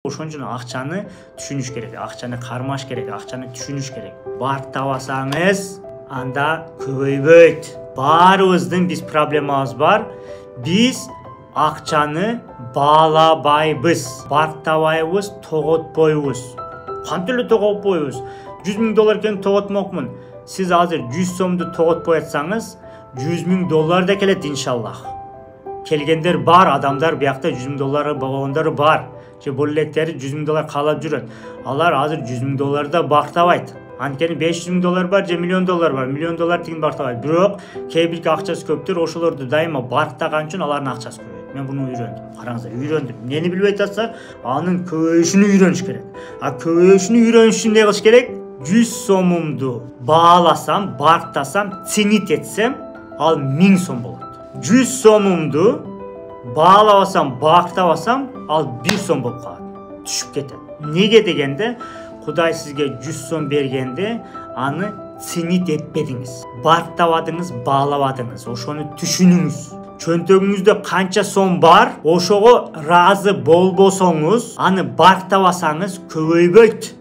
Ошон үчүн акчаны түшүнүш керек, акчаны кармаш керек, акчаны түшүнүш керек. Бартабасаңыз, анда көбөйбөйт. Баарыбыздын биз проблемабыз бар. Биз акчаны баалабайбыз, бартабайбыз, тоготпойбуз. Кантип эле тоготпойбуз? 100 000 доллар экен тоготмокмун. Сиз азыр 100 сомду тоготпой атсаңыз, 100 000 доллар да келет иншаллах. Келгендер бар, адамдар биякта 100 000 доллары болгондор бар. Же бул электери 100 000 доллар каалап жүрөт. Алар азыр 100 000 долларда бартабайт. Анткени 500 000 доллар бар же миллион доллар бар. Миллион доллар тигин бартабайт. Бирок кээ бирки акчасы көптөр ошолорду дайыма бартаган үчүн алардын акчасы көбөйөт. Мен буну үйрөндүм. Караңыздар, үйрөндүм. Эмнени билбей атса, анын көбөйүшүнү үйрөнүш керек. Көбөйүшүнү үйрөнүш үчүн эмне кылыш керек? 100 сомумду бааласам, бартасам, ценит этсем, ал 1000 сом болот. 100 сомумду баалабасам, бактабасам, ал 1 сом болуп калат. Түшүп кетет. Неге дегенде, Кудай сизге 100 сом бергенде, аны ценит этпедиңиз. Бартабадыңыз, баалабадыңыз. Ошону түшүнүңүз. Чөнтөгүңүздө канча сом бар, ошого ыраазы болбосоңуз, аны бартабасаңыз көбөйбөйт.